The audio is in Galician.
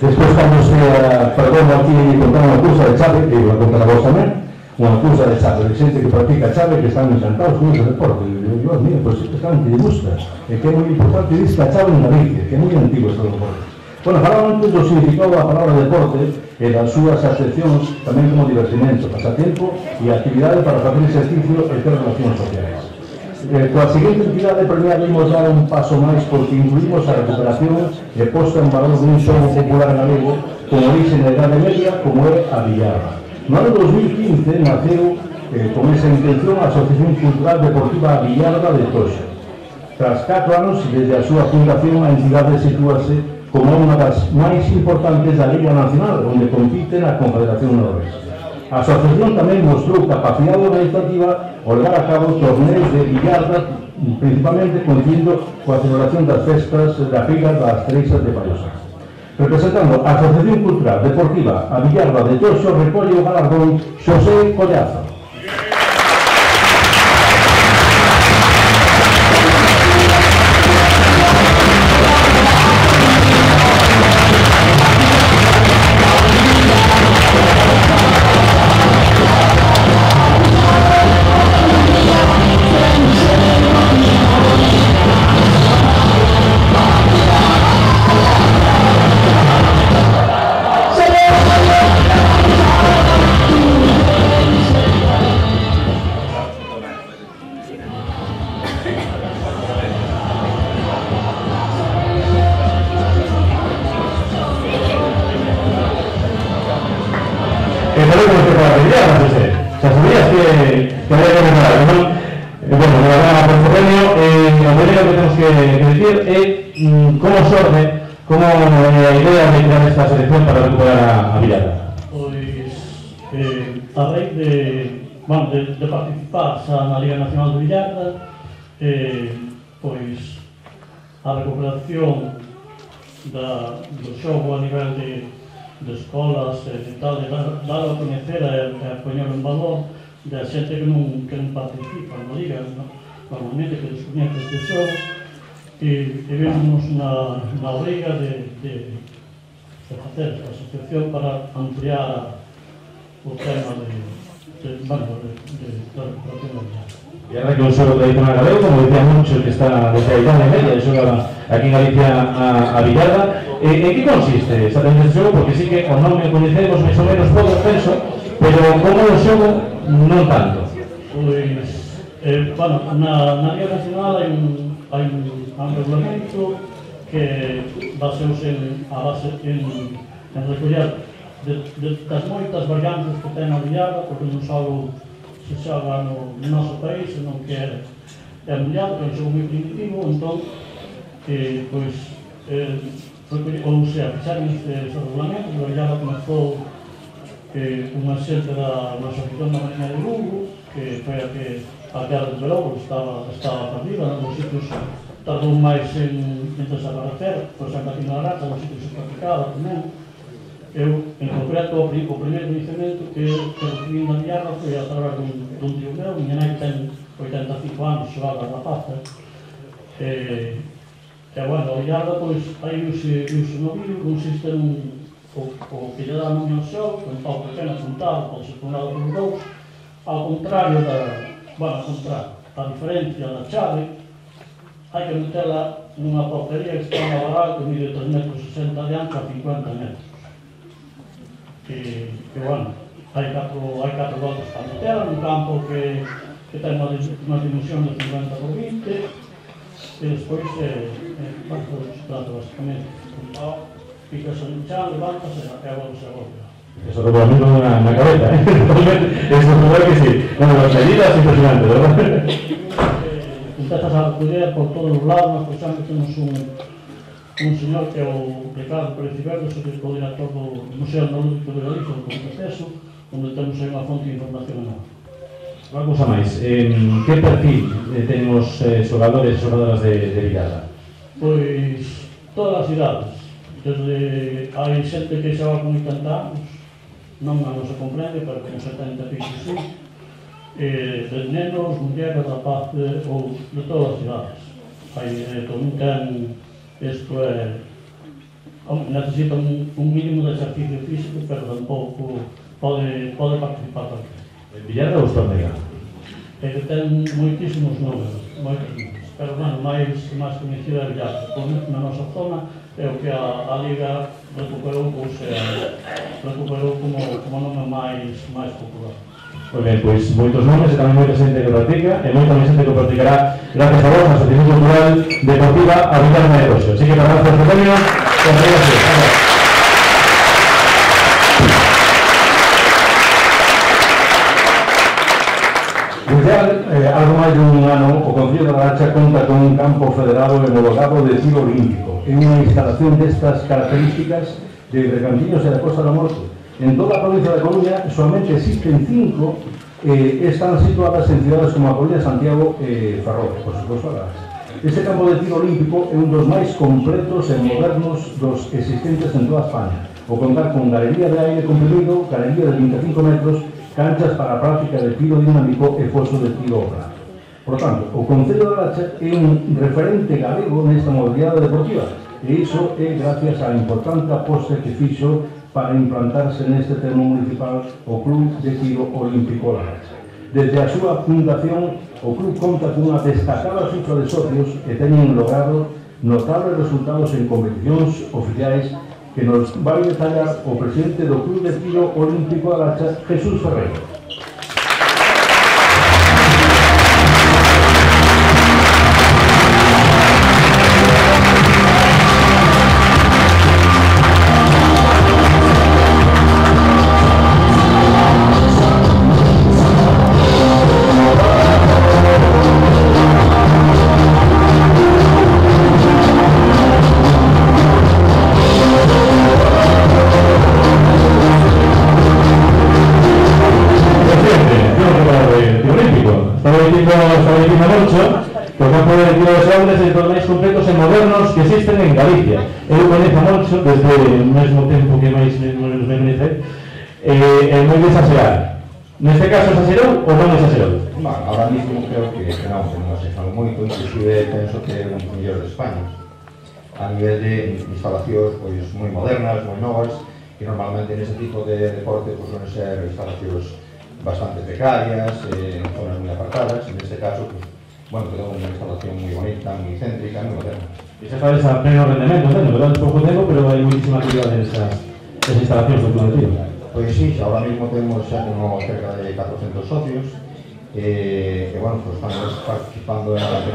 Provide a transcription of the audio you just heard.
Despois estamos, perdón, aquí contar unha cousa de chave, que vou contar a vos tamén, unha cousa de chave, de xente que practica chave, que están encantados con ese deporte. Dios mío, pois están que lle gusta, e que é moi importante diz que a chave en Galicia, que é moi antigo este deporte. Bueno, falaba antes do significado da palabra deporte e das súas acepcións tamén como divertimento, pasatempo e actividade para facer exercicio e ter relacións sociais. Coa seguinte entidade premiamos dar un paso máis porque incluímos a recuperación e posta en valor dun xogo popular galego con orixe na Idade Media como é a billarda. No ano 2015 naceu con esa intención a Asociación Cultural Deportiva Billarda de Toxa. Tras 4 anos desde a súa fundación a entidade sitúase como unha das máis importantes da Liga Nacional onde compite na Confederación Nordeste. A asociación tamén mostrou capacidade organizativa ao levar a cabo torneos de billarda, principalmente coincidindo coa celebración das festas da Figa das Treixas de Pallosa. Representando a Asociación Cultural Deportiva a Billarda de Toxo, recolle o galardón Xosé Collazo. Como a idea de crear esta selección para recuperar a billarda? Pois, a raíz de participar xa na Liga Nacional de Billarda, pois a recuperación do xogo a nivel de escolas e tal, de dar a coñecer e a poñer en valor da xente que non participa na Liga, normalmente que descoñece este xogo, e vemos na obriga de facer a asociación para ampliar o tema de recuperación da billarda. E ahora que un xogo tradicional galego, como decía mucho, que está desde a Idade Media, xoga aquí en Galicia a billarda. En que consiste exactamente este xogo? Porque sí que o nome coñecemos máis ou menos pouco penso, pero como o xogo non tanto. Pois, na Liga Nacional hai un regulamento que baseouse en recoller das moitas variantes que ten a billarda, porque non só se xoga no noso país, senón que é mundial, que é un xogo moi primitivo, entón, ouse a fixar neste regulamento. A billarda comezou unha xente da Asociación da Mariña de Lugo, que foi a que a guerra de Verón estaba perdida, nos sitios tardou máis en desaparecer, por exemplo, aquí na Aracha, nos sitios se practicaba tamén. Eu, en concreto, o primeiro conhecimento que recibí na billarda foi a través dun tío meu. Miña nai ten 85 anos, xogaba a rapaza. A billarda, pois, aí use no vídeo, consiste o que lle dá nome ao xogo, con pau pequeno apuntado, pode ser formado por dous, ao contrario a diferencia da chave, hai que metela nunha portería que está na varal que mide 3,60 m de ancho a 50 metros. Hai 4 voltas para metela, nun campo que ten unha dimensión de 50 por 20, e despois se trata basicamente un pau, picas en chan, levantas e volves a volver. Eso regulamento na cabeza, eso seguro que sí. Bueno, las medidas impresionantes, ¿verdad? Empezas a recoller por todos os lados. Nós, por exemplo, temos un señor que é o Ricardo Pérez Verde, o director do Museo Etnológico de Galicia, do Conceso, onde temos aí unha fonte de información enorme. Unha cousa máis, que perfil ten os xogadores e xogadoras de billarda? Pois todas as idades. Desde hai xente que xoga con 80 anos, non se comprende, pero con 70 pisos sí, de nenos, mulleres, rapaces ou de todas as idades. Tamén ten, isto é necesita un mínimo de exercicio físico, pero tampouco pode participar cualquiera. Villarra ou Estornega? Ele ten moitísimos números, pero, bueno, máis coñecida é Villarra. Na nosa zona é o que a Liga recuperou como nome máis popular. Moi ben, pois moitos nomes e tamén moita xente que practica e moita máis xente que practicará gracias a vos na Asociación Cultural Deportiva a Villarra de Roxo. Así que para dar os premios, gracias. Desde algo máis dun ano, o Concello da Laracha conta con un campo federado e homologado de tiro olímpico. É unha instalación destas características de Recantiños e da Costa da Morte. En toda a provincia da Coruña solamente existen 5 están situadas en cidades como a Coruña, Santiago e Ferrol, por suposto a Laracha. Este campo de tiro olímpico é un dos máis completos e modernos dos existentes en toda España. O contar con galería de aire comprimido, galería de 25 metros, canchas para a práctica de tiro dinámico e foso de tiro ao blanco. Por tanto, o Concello da Laracha é un referente galego nesta modalidade deportiva e iso é gracias á importante aposta que fixo para implantarse neste termo municipal o Club de Tiro Olímpico Laracha. Desde a súa fundación, o club conta cunha destacada cifra de socios que teñen logrado notables resultados en competicións oficiais que nos vai detallar o presidente do Club de Tiro Olímpico da Laracha, Jesús Ferreiro. Que existen en Galicia. Eu coñezo moito desde o mesmo tempo que máis me coñece e moi desaxerado. Neste caso exagerou ou non exagerou? Ahora mismo creo que non exagerou moito, inclusive penso que é un mellor de España a nivel de instalacións pois moi modernas, moi novas, que normalmente nese tipo de deporte pois son ser instalacións bastante precarias, en zonas moi apartadas. En este caso, pues, bueno, tenemos una instalación muy bonita, muy céntrica, muy moderna. Y se sabe a pleno rendimiento, ¿no? ¿Verdad? Es poco tiempo, pero hay muchísima actividad en esas instalaciones del Club de Tiro. Pues sí, ahora mismo tenemos ya como cerca de 400 socios, bueno, pues estamos participando en la